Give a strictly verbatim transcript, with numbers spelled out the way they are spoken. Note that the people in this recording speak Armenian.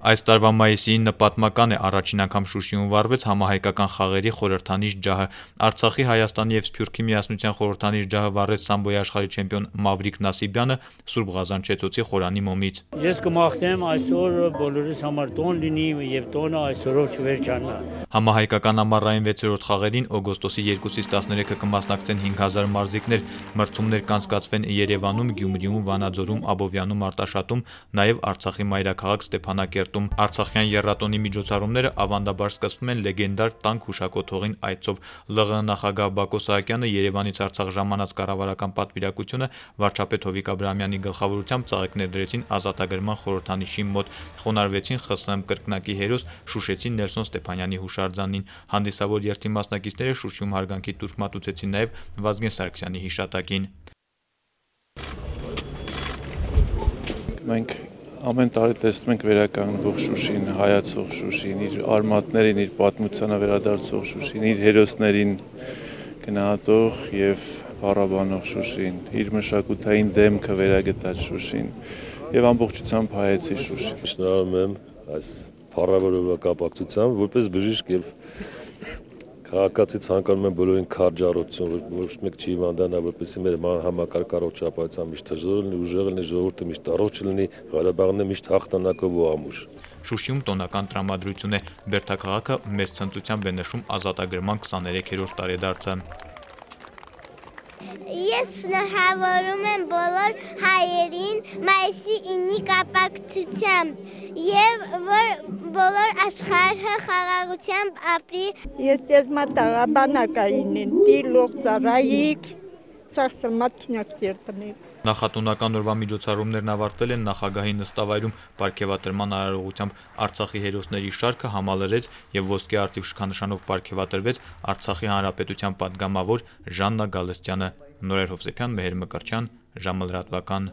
Այս տարվա մայիսին պատմական է, առաջին անգամ Շուշիում վարվեց համահայկական խաղերի խորհրդանիշ ջահը։ Արցախի, Հայաստանի եւ Սփյուռքի միասնության խորհրդանիշ ջահը վարեց սամբոյի աշխարհի չեմպիոն Մավրիկ Նասիբյանը Սուրբ Ղազան Չեցոցի խորանի մոմից։ Ես կմաղթեմ այսօր բոլորիս համար տոն լինի եւ տոնը այսօրով չվերջանա։ Համահայկական ամառային վեցերորդ խաղերին օգոստոսի երկուսից տասներեքը կմասնակցեն հինգ հազար մարզիկներ։ Մրցումներ կանցկացվեն Երևանում, Գյումրիում, Վանաձորում, Աբովյանում, Արտաշատում, նաեւ Արցախի մայրաքաղաք Ստեփանակերտում։ Արցախյան եռատոնի միջոցառումները ավանդաբար սկսվում են լեգենդար տանկ հուշակոթողին այցով։ ԼՂՀ նախագահ Բակո Սահակյանը Երևանից Արցախ ժամանած կառավարական պատվիրակությունը վարչապետ Հովիկ Աբրահամյանի գլխավորությամբ ծաղիկներ դրեցին ազատագրման խորհրդանիշի մոտ, խոնարհվեցին ԽՍՀՄ կրկնակի հերոս Շուշեցի Նելսոն Ստեփանյանի հուշարձանին։ Հանդիսավոր երթի մասնակիցները Շուշիում հարգանքի տուրք մատուցեցին նաեւ Վազգեն Սարգսյանի հիշատակին։ Մենք ամեն տարի տեսնում ենք վերականգնվող Շուշին, հայացող Շուշին, իր արմատներին, իր պատմությանը վերադարձող Շուշին, իր հերոսներին գնահատող եւ փառաբանող Շուշին, իր մշակութային դեմքը վերագտած Շուշին եւ ամբողջությամբ հայեցի Շուշին։ Շնորհավորում եմ այս փառավոր օրվա կապակցությամբ, որպես բժիշկ եւ քաղաքացի ցանկանում եմ բոլորին քաջառություն, որ ոչ մեկ չի հիվանդանա, որպեսզի մեր համակարգ առողջապահության միշտ հզոր լինի, ուժեղ լինի, ժողովուրդը միշտ առողջ լինի, Ղարաբաղն միշտ հաղթանակով ու ամուր։ Շուշիում տոնական տրամադրություն է, Բերդաքաղաքը մեծ ցնծությամբ է նշում ազատագրման քսաներեքերորդ տարեդարձը։ Ես շնորհավորում եմ բոլոր հայերին մայիսի ինի կապակցությամբ եւ որ բոլոր աշխարհը խաղաղությամբ ապրի։ Ես ձեզ մատաղաբանակային են, դիլող ծառայիք, Նախատոնական օրվա միջոցառումներն ավարտվել են նախագահի նստավայրում պարգևատրման արարողությամբ Արցախի հերոսների շարքը համալրեց եւ ոսկե արծիվ շքանշանով պարգևատրվեց Արցախի հանրապետության պատգամավոր Ժաննա Գալստյանը։ Նորեր Հովսեփյան, Մեհեր Մկրտչյան, ժամը լրատվական։